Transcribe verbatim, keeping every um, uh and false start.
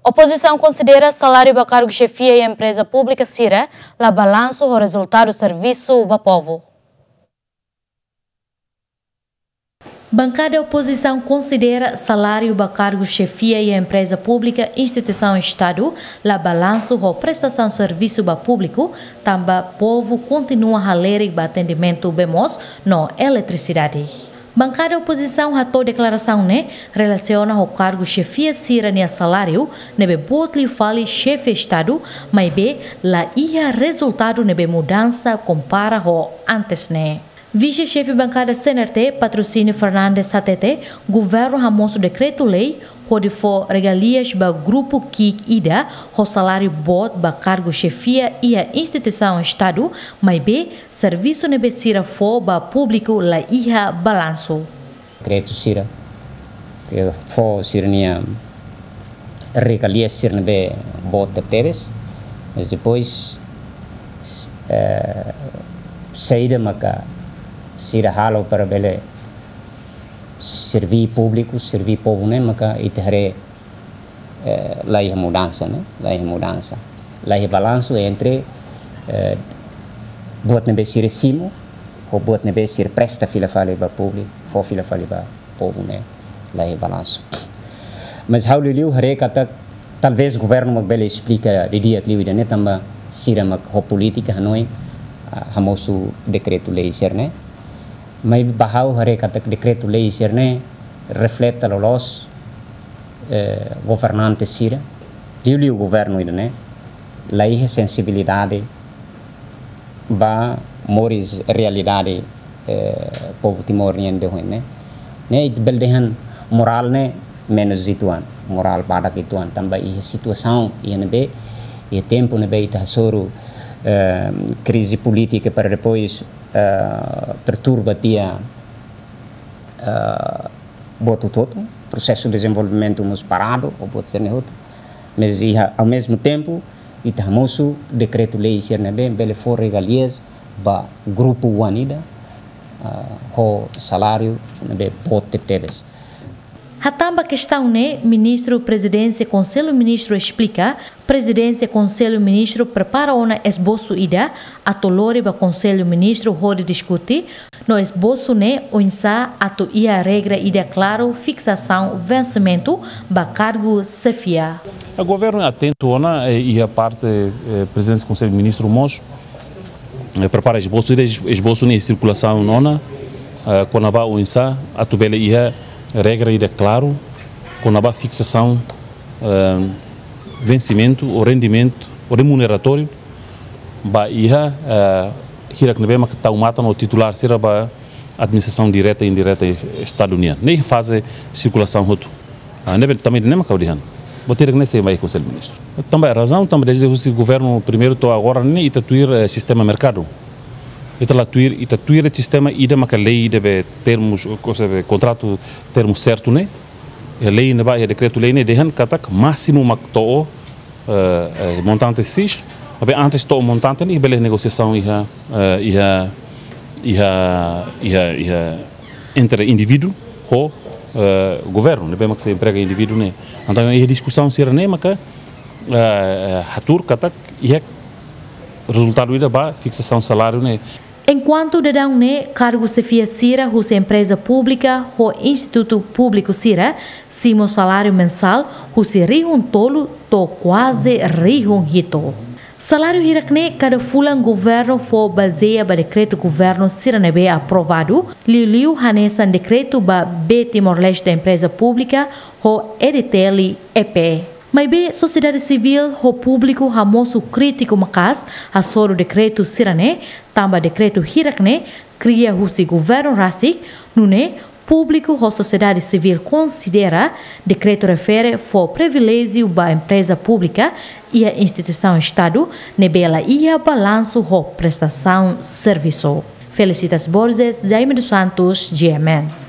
Opozisaun konsidera saláriu ba kargu xefia iha empreza públika sira la balansu ho rezultadu servisu ba povu. Bankada opozisaun konsidera saláriu ba kargu xefia iha empreza públika, instituisaun Estadu, la balansu ho prestasaun servisu ba públiku, tanba povu kontinua halerik ba atendimentu bee moos no eletrisidade. Bankada opozisaun hato'o deklarasaun ne'e relasiona ho kargu xefia sira-nia saláriu ne'ebé boot liu fali xefe Estadu, maibé la iha rezultadu ne'ebé mudansa kompara ho antes ne'e. Vise-xefe bankada C N R T, Patrocínio Fernandes hatete, governu hamosu dekretu-lei hodi fó regalias ba grupu ki'ik ida ho saláriu boot ba kargu xefia iha instituisaun Estadu, maibé servisu ne'ebé sira fó ba públiku la iha balansu. Dekretu sira ke fó sira-nia regalia sira ne'ebé boot tebes, mas depois, eh, saida maka sira halo para bele serví públiku, serví povu ne'e maka ita haree, eh, la iha mudansa, ne'e? La iha mudansa. La iha balansu entre, eh, buat ne'ebé sira simu, ho buat ne'ebé sira presta fila fali ba públiku, fó fila fali ba povu ne'e. La iha balansu. Mas ha'u liuliu haree katak talvés governu mak bele esplika didi'ak liu ida-ne'e tanba sira mak ho polítika hanoin, ah, hamosu dekretu-lei sira-ne'e. Maibé ba ha'u haree katak dekretu-lei sira-ne'e refleta loloos, eh, governante sira, liuliu governu ida-ne'e, la iha sensibilidade ba moris realidade, eh, povu Timor nian de hoin ne'e. Ne'e ita bele dehan morál ne'e menus uitoan, morál badak uitoan, tanba iha situasaun iha ne'ebé, iha tempu ne'ebé ita hasoru, eh, krize polítika para depois, eh, perturba tiha, eh, buat hotu-hotu, prosesu dezenvolvimentu mós paradu, ho buat sira-ne'e hotu. Mas iha, ao mesmo tempo, ita hamosu dekretu-lei sira ne'ebé bele fó regalias ba grupu oan ida, ah, ho saláriu ne'ebé boot tebes. Hatán ba kestaun ne'e, Ministru Prezidénsia Konsellu Ministru esplika, Prezidénsia Konsellu Ministru prepara ona esbosu ida atu lori ba Konsellu Ministru hodi diskute, no esbosu ne'e oinsá atu iha regra ida klaru fiksasaun vensimentu ba kargu xefia. O governu atentu ona, eh, iha parte, eh, Prezidénsia Konsellu Ministru mós, eh, prepara esbosu ida, es-, esbosu ne'e sirkulasaun ona, eh, kona-ba oinsá atu bele iha regra ida klaru kona-ba fiksasaun, eh, vensimentu ou rendimentu ou remuneratóriu ba iha, eh, hirak ne'ebé mak tau matan ou titulár sira ba administrasaun direta i indireta Estadu nian. Ne'e faze sirkulasaun hotu. Ah, ne'ebé tanba ne'e mak ha'u dehan. Buat hirak ne'e sei mai Konsellu Ministru. Tanba razaun, tanba dezde husi governu primeiru to'o agora ne'e ita tuir, eh, sistema merkadu. Ita la tuir, ita tuir sistema ida maka lei ida be termus, ou seja, be kontratu termu sertu ne'e. Iha lei ne'ebá, iha dekretu-lei ne'e dehan katak másimu mak to'o, eh, eh, montante X, maibé antes to'o montante ne'e bele negosiasaun iha, eh, iha, iha, iha, iha entre indivíduu ho, eh, governu, ne'ebé mak sei emprega indivíduu ne'e. Entaun, iha diskusaun sira-ne'e maka, eh, eh, hatuur katak iha rezultadu ida ba fiksasaun saláriu ne'e. Enkuantu daudaun ne'e, kargu xefia sira husi empreza públika ho institutu públiku sira simu saláriu mensál husi rihun tolu to'o kuaze rihun hitu. Saláriu hirak ne'e kada fulan governu fó bazeia ba dekretu governu sira ne'ebé aprovadu, liuliu hanesan dekretu ba Bee Timor-Leste Empreza Públika ho E D T L E P. Maibé sosiedade sivíl ho públiku hamosu krítiku maka'as hasoru dekretu sira-ne'e, tanba dekretu hirak ne'e kria husi governu rasik, nune'e públiku ho sosiedade sivíl konsidera dekretu refere fó priviléjiu ba empreza públika iha instituisaun Estadu ne'ebé la iha balansu ho prestasaun servisu. Felicitas Borges, Jaime dos Santos, G M N.